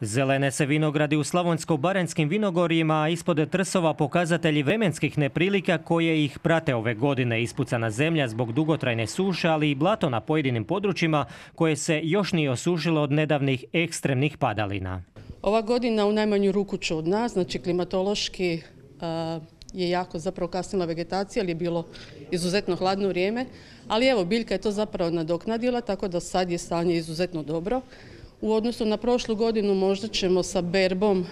Zelene se vinogradi u slavonsko-baranjskim vinogorjima, a ispod trsova pokazatelji vremenskih neprilika koje ih prate ove godine. Ispucana zemlja zbog dugotrajne suše, ali i blato na pojedinim područjima koje se još nije osušilo od nedavnih ekstremnih padalina. Ova godina u najmanju ruku čudna, znači klimatološki je jako zapravo kasnila vegetacija, ali je bilo izuzetno hladno vrijeme. Ali evo, biljka je to zapravo nadoknadila, tako da sad je stanje izuzetno dobro. U odnosu na prošlu godinu možda ćemo sa berbom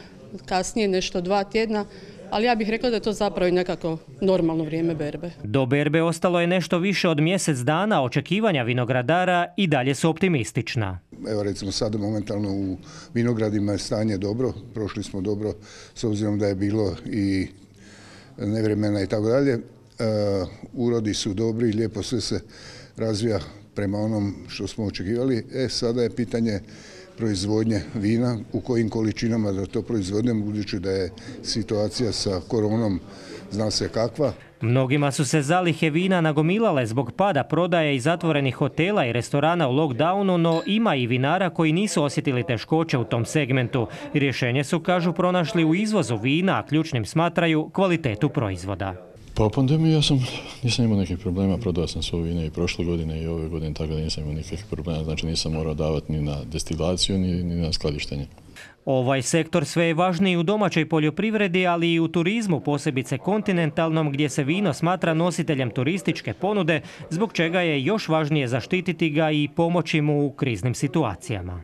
kasnije nešto 2 tjedna, ali ja bih rekla da je to zapravo i nekako normalno vrijeme berbe. Do berbe ostalo je nešto više od mjesec dana, očekivanja vinogradara i dalje su optimistična. Evo recimo sada momentalno u vinogradima je stanje dobro, prošli smo dobro s obzirom da je bilo i nevremena i tako dalje. Urodi su dobri, lijepo sve se razvija prema onom što smo očekivali. Sada je pitanje proizvodnje vina, u kojim količinama da to proizvodimo, budući da je situacija sa koronom zna se kakva. Mnogima su se zalihe vina nagomilale zbog pada prodaje i zatvorenih hotela i restorana u lockdownu, no ima i vinara koji nisu osjetili teškoće u tom segmentu. Rješenje su, kažu, pronašli u izvozu vina, a ključnim smatraju kvalitetu proizvoda. Pa u pandemiji nisam imao nekih problema, prodao sam svoje vine i prošle godine i ove godine, tako da nisam imao nikakvih problema, znači nisam morao davati ni na destilaciju ni na skladištenje. Ovaj sektor sve je važniji u domaćoj poljoprivredi, ali i u turizmu, posebice kontinentalnom, gdje se vino smatra nositeljem turističke ponude, zbog čega je još važnije zaštititi ga i pomoći mu u kriznim situacijama.